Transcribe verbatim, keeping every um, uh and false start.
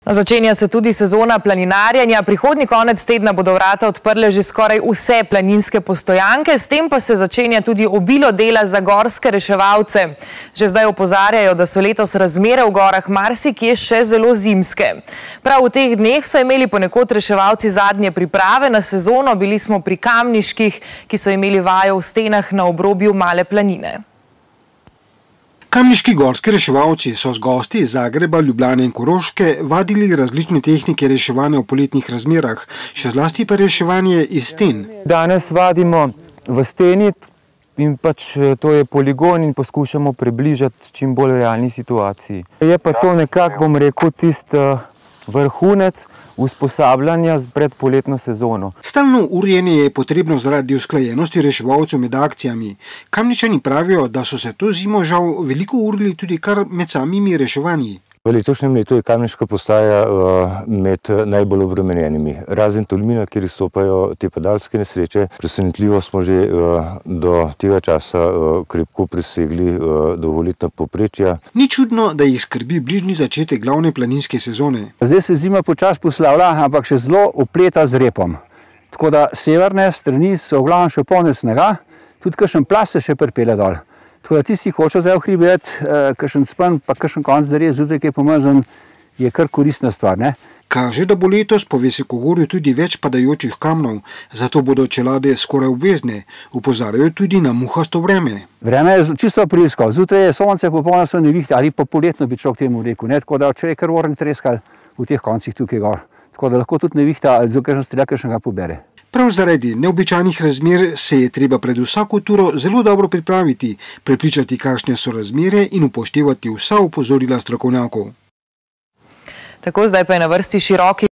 Začenja se tudi sezona planinarjenja. Prihodnji konec tedna bodo vrata odprle že skoraj vse planinske postojanke, s tem pa se začenja tudi obilo dela za gorske reševalce. Že zdaj opozarjajo, da so letos razmere v gorah marsikje še zelo zimske. Prav v teh dneh so imeli ponekod reševalci zadnje priprave na sezono. Bili smo pri Kamniških, ki so imeli vajo v stenah na obrobju Male planine. Kamniški gorski reševalci so z gosti iz Zagreba, Ljubljane in Koroške vadili različne tehnike reševanja v poletnih razmerah, še zlasti pa reševanje iz sten. Danes vadimo v steni in pač to je poligon in poskušamo približati čim bolj realni situaciji. Je pa to nekako, bom rekel, tisti vrhunec usposabljanja pred poletno sezono. Stalno urjenje je potrebno zaradi usklajenosti reševalcev med akcijami. Kamničani pravijo, da so se to zimo žal veliko urili tudi kar med samimi reševanji. V letošnjem letu je Kamniška postaja med najbolj obremenjenimi. Razen Tolmina, kjer izstopajo te padalske nesreče, presenetljivo smo že do tega časa krepko presegli dolgoletna povprečja. Ni čudno, da jih skrbi bližnji začetek glavne planinske sezone. Zdaj se zima počasi poslavlja, ampak še zelo opleta z repom. Tako da severne strani so v glavnem še polne snega, tudi kakšen plas se še pripelje dol. Tako da tisti, ki hoče zdaj v hribet, kakšen spen, pa kakšen konc darje zjutraj, ki je pomazan, je kar koristna stvar, ne? Kaže, da bo letos po visokogorju tudi več padajočih kamnov, zato bodo čelade skoraj obvezne. Opozarjajo tudi na muhasto vreme. Vreme je čisto aprilsko. Zjutraj je sonce, popolno so nevihte, ali pa poletno bi človek temu rekel, ne? Tako da če je kar oren treskal v teh koncih tukaj gor. Tako da lahko tudi nevihta ali zelo kakšen strelja kakšnega pobere. Prav zaradi neobičajnih razmer se je treba pred vsako turo zelo dobro pripraviti, prepričati, kakšne so razmere in upoštevati vsa opozorila strokovnjakov. Tako, zdaj pa je na vrsti široki